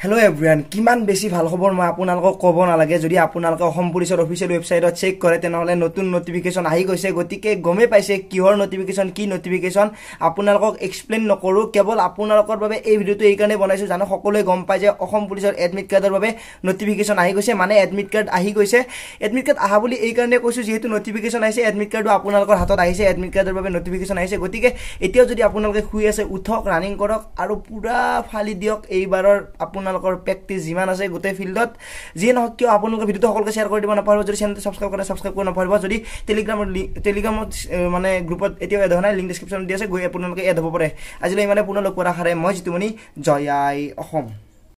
Hello' everyone, কিমান বেছি ভাল খবৰ মই আপোনালোকক ক'ব নালাগে। যদি আপোনালোকে অসম পুলিচৰ অফিচিয়েল ৱেবছাইটত চেক কৰে, তেনেহ'লে নতুন নটিফিকেশ্যন আহি গৈছে। গতিকে গমেই পাইছে কিহৰ নটিফিকেশ্যন, কি নটিফিকেশ্যন, আপোনালোকক এক্সপ্লেইন নকৰোঁ। কেৱল আপোনালোকৰ বাবে এই ভিডিঅ'টো এইকাৰণে বনাইছোঁ, জানো সকলোৱে গম পায় যে অসম পুলিচৰ এডমিট কাৰ্ডৰ বাবে নটিফিকেশ্যন আহি গৈছে, মানে এডমিট কাৰ্ড আহি গৈছে। এডমিট কাৰ্ড আহা বুলি এইকাৰণে কৈছোঁ, যিহেতু নটিফিকেশ্যন আহিছে, এডমিট কাৰ্ডো আপোনালোকৰ হাতত আহিছে, এডমিট কাৰ্ডৰ বাবে নটিফিকেশ্যন আহিছে। গতিকে এতিয়াও যদি আপোনালোকে শুই আছে, উঠক, ৰানিং কৰক আৰু পূৰা ফালি দিয়ক এইবাৰৰ আপোনালোকৰ প্ৰেক্টিচ যিমান আছে গোটেই ফিল্ডত। যিয়ে নহওক কিয়, আপোনালোকে ভিডিঅ'টো সকলোকে শ্বেয়াৰ কৰি দিব নাপাহৰিব। যদি চেনেলটো ছাবস্ক্ৰাইব কৰে, ছাবস্ক্ৰাইব কৰিব নাপাহৰিব। যদি টেলিগ্ৰামত মানে গ্ৰুপত এতিয়াও এড হোৱা নাই, লিংক ডিছক্ৰিপশ্যনত দি আছে, গৈ আপোনালোকে এড হ'ব পাৰে। আজিলৈ ইমানে, পুনৰ লগ পোৱাৰ আশাৰে মই জিতুমণি, জয় আই অসম।